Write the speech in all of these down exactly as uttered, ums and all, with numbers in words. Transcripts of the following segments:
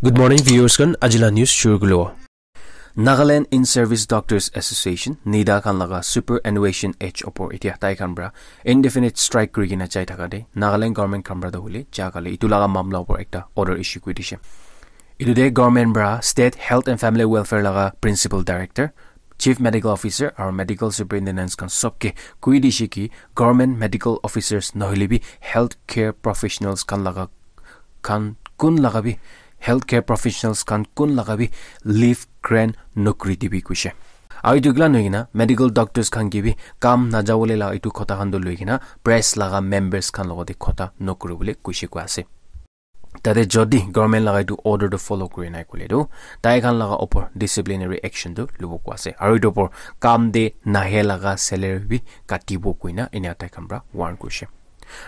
Good morning, viewers khan. Ajila news shuru kulo. Nagaland In-Service Doctors Association, NIDA khan laga superannuation age opor itia tai khan pra indefinite strike kuri kena jai thaka de Nagaland government khan pra toh hoile ja kali itu laga mamla opor ekta order issue kuri dishe. Itu de government pra State Health and Family Welfare laga Principal Director, Chief Medical Officer aru Medical Superintendents khan sob ke koi dishe ki government medical officers nohole bi healthcare professionals khan laga khan kun laga bi healthcare professionals khan kun laga bi leave grant nokuri dibi kuishe. Aru itu kila nohoi kena medical doctors khan ke bi kam najawole la itu khota khan toh loi kena press laga members khan logote khota nokuribole kuishe koi ase. Tate jodi government laga itu order to follow kuri nai kule tu tai khan laga opor disciplinary action tu lubo koi ase. Aru itu opor kam de nahe laga salary bi katibo koina enia tai khan pra warn kurishe.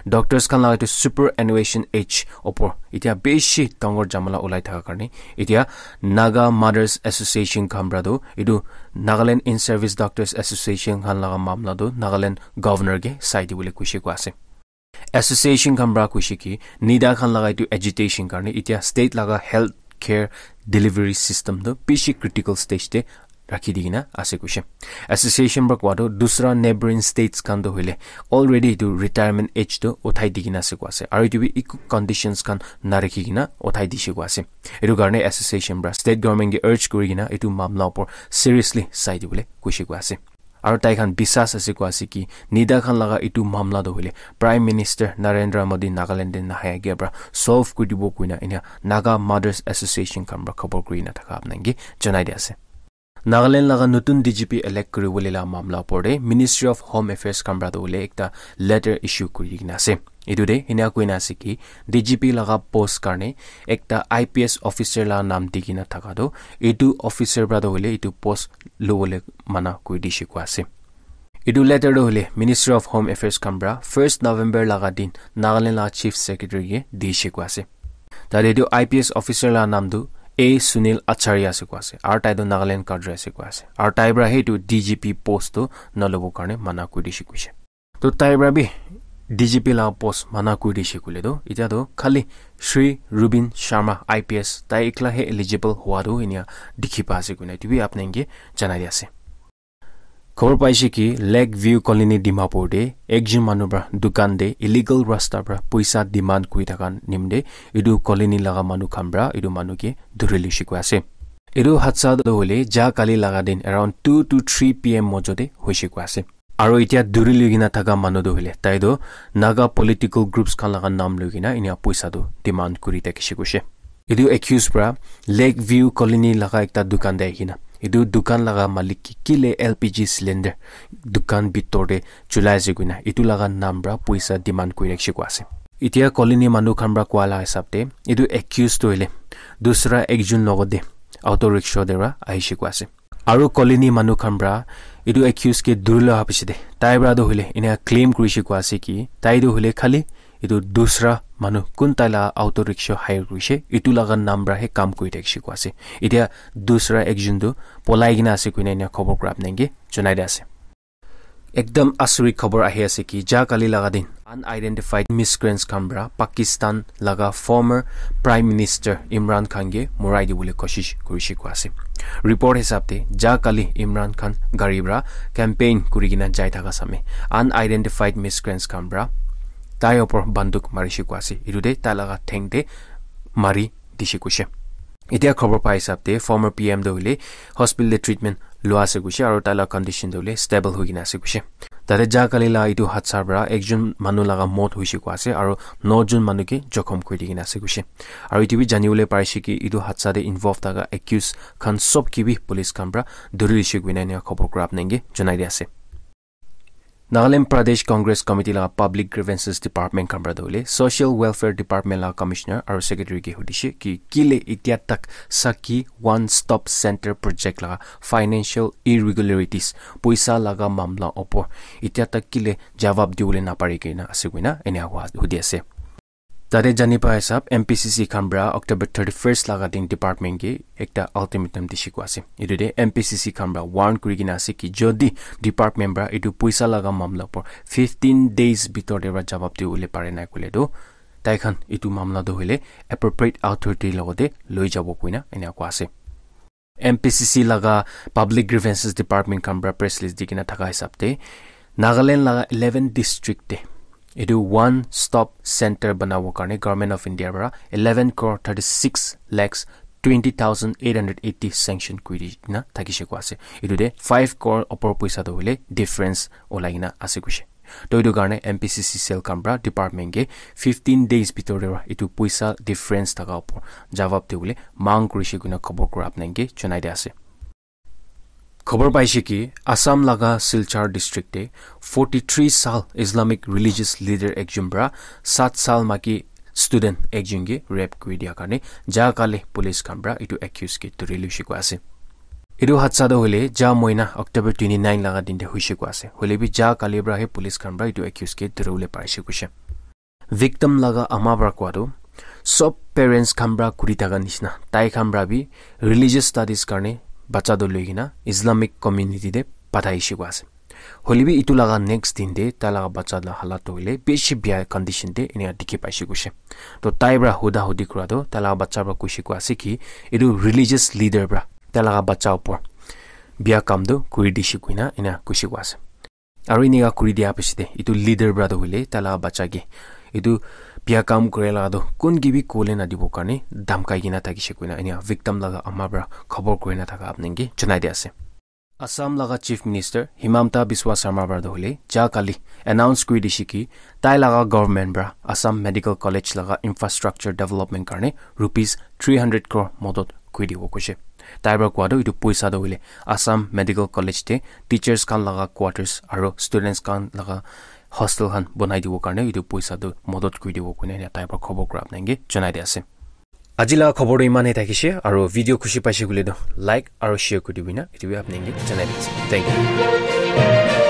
Doctors khan laga itu superannuation age opor itia bishi dangor jamala ulai thaka karne itia Naga Mothers Association khan pra tu itu Nagaland In-Service Doctors Association khan laga mamla tu Nagaland governor ke sai dibole kuishe koi ase. Association khan pra kuishe ki NIDA khan laga itu agitation karne itia state laga health care delivery system tu bishi critical stage te rakhi di kena ase kuishe. Association pra kowa tu dusra neighboring states khan tu hoile already itu retirement age tu uthai di kena ase koi ase. Aru itu bi eku conditions khan narakhi kena uthai dishe koi ase. Itu karne association pra state government ke urge kuri kena itu mamla opor seriously sai dibole kuishe koi ase. Aru tai khan bisas ase koi ase ki NIDA khan laga itu mamla toh hoile Prime Minister Narendra Modi Nagaland te nahai agia pra solve kuri dibo koina enia Naga Mothers Association khan pra khobor kuri na thaka apnai ke janai di ase. Nagaland laga notun D G P elect kuri bole la mamla opor te Ministry of Home Affairs khan pra toh hoile ekta letter issue kuri kena ase. Itu de enia koina ase ki D G P laga post karne ekta I P S officer la nam di kena thaka toh itu officer pra toh hoile itu post lobole mana kuri dishe koi ase. Itu letter toh hoile Ministry of Home Affairs khan pra first November laga din Nagaland laga Chief Secretary ke dishe koi ase. Tate itu I P S officer la nam tu A Sunil Acharya ase koi ase. Aru tai toh Nagaland cadre ase koi ase. Aru tai pra he itu D G P post tu nalobo karne mana kuri dishe kuishe. To tai pra bi D G P la post mana kuri dishe koile toh itia toh khali Shri Rubin Sharma I P S tai ekla he eligible hua toh inia dikhi pa ase koina itu bi apnai ke janai di ase. Khobor paishe ki Lake View Colony Dimapur te ekjon manu pra dukan te illegal rasta pra puisa demand kuri thaka nimde itu colony laga manu khan pra itu manu ke dhuri luishe koi ase. Itu hadsa toh hoile ja kali laga din around two to three P M mojo te hoishe koi ase. Aru itia dhuri lui kena thaka manu toh hoile tai toh Naga political groups khan laga nam lui kena inia puisa toh demand kuri thakishe kuishe. Itu accused pra Lake View Colony laga ekta dukan te ahikena itu dukan laga malik ke kile L P G cylinder dukan bitor te chulai ase koina itu laga nam pra puisa demand kuri rakhishe koi ase. Itia colony manu khan pra koa la hisab te itu accused toh hoile dusra ekjon logot te auto rickshaw te pra ahishe koi ase. Aru colony manu khan pra itu accused ke dhuri loa piche te tai pra toh hoile enia claim kurishe koi ase ki tai toh hoile khali itu dusra manu kun tai la auto rickshaw hire kurishe itu laga nam pra he kam kuri thakishe koi ase. Itia dusra ekjon toh polai kena ase koina enia khobor kura apnai ke janai di ase. Ekdam asuri khobor ahi ase ki ja kali laga din unidentified miscreants khan pra Pakistan laga former Prime Minister Imran Khan ke morai dibole koshish kurishe koi ase. Report hisab te ja kali Imran Khan gari pra campaign kuri kena jai thaka same unidentified miscreants khan pra tai opor banduk marishe koi ase. Itu te tai laga theng te mari dishe kuishe. Itia khobor pa hisab te former P M toh hoile hospital te treatment lua ase kuishe aru tai la condition toh hoile stable hoi kena ase kuishe. Tate ja kali la itu hadsa pra ekjon manu laga mot hoishe koi ase aru nojon manu ke jokhom kuri di kena ase kuishe. Aru itu bi jani bole parishe ki itu hadsa te involve thaka accused khan sob ke bi police khan pra dhuri dishe koina enia khobor kura apnai ke janai di ase. Nagaland Pradesh Congress Committee laga Public Grievances Department khan pra toh hoile Social Welfare Department laga Commissioner aru Secretary ke hudishe ki kile itia tak Sakhi One Stop Center Project laga financial irregularities, puisa laga mamla opor itia tak kile jawab dibole napari kena ase koina enia hua hudi ase. Tate jani pa hisab M P C C khan pra October thirty-first laga din department ke ekta ultimatum dishe koi ase. Itu te M P C C khan pra warn kuri kena ase ki jodi department pra itu puisa laga mamla por fifteen days bitor te pra jawab dibole pare nai koile toh tai khan etu mamla tu hoile appropriate authority logote loi jabo koina ena koa ase. M P C C laga Public Grievances Department khan pra press release di kena thaka hisab te Nagaland laga eleven district te etu one stop center banabo karne Government of India pra eleven crore thirty six lakhs twenty thousand eight hundred eighty sanction kuri di na thakishe koa ase. Etu te five crore opor poisa tu hoile difference olai kena ase kuishe. To etu karne M P C C cell khan pra department ke fifteen days bhitor te pra etu poisa difference thaka opor jawab de bole mang kurishe koina khobor kura apnai ke janai de ase. Khobor paishe ki Assam laga Silchar district te forty three sal Islamic religious leader ekjon pra sat sal maki student ekjon ke rape kuri dia karne Jahakali police khan pra etu accused ke dhuri luishe koa ase. Etu hadsa tu hoile ja moina October twenty nine laga din te huishe koa ase. Hoile bi Jahakali pra he police khan pra etu accused ke dhuri bole parishe kuishe. Victim laga ama pra koa tu sob parents khan pra kuri thaka nishina tai khan pra bi religious studies karne bacha tu loi kena Islamic community te pathaishe koa ase. Hoile bi etu laga next din te tai laga bacha la halat tu hoile bishi bia condition te enia dikhi paishe kuishe. To tai pra huda hudi kura tu tai laga bacha pra kuishe koa ase ki etu religious leader pra tai laga bacha upor bia kam tu kuri dishe koina ena kuishe koa ase. Aru enika kuri dia piche te etu leader pra tu hoile tai laga bacha ke etu bia kam kure laga tu kun ke bi kole na dibo karne dhamkai kena thakishe koina enia victim laga ama pra khobor kuri na thaka apnai ke janai de ase. Assam laga Chief Minister Himanta Biswa Sarma pra tu hoile Jahakali announce kuri dishe ki tai laga government pra Assam Medical College laga infrastructure development karne rupees three hundred crore modot kuri dibo kuishe. Tai pra koa tu etu poisa tu hoile Assam Medical College te teachers khan laga quarters aru students khan laga hostel khan bonai dibo karne etu poisa tu modot kuri dibo koina enia tai pra khobor kura apnai ke janai de ase. Aji laga khobor tu iman he thakishe aru video khushi paishe koile tu like aru share kuri dibi na etu bi apnai ke janai de ase. Thank you.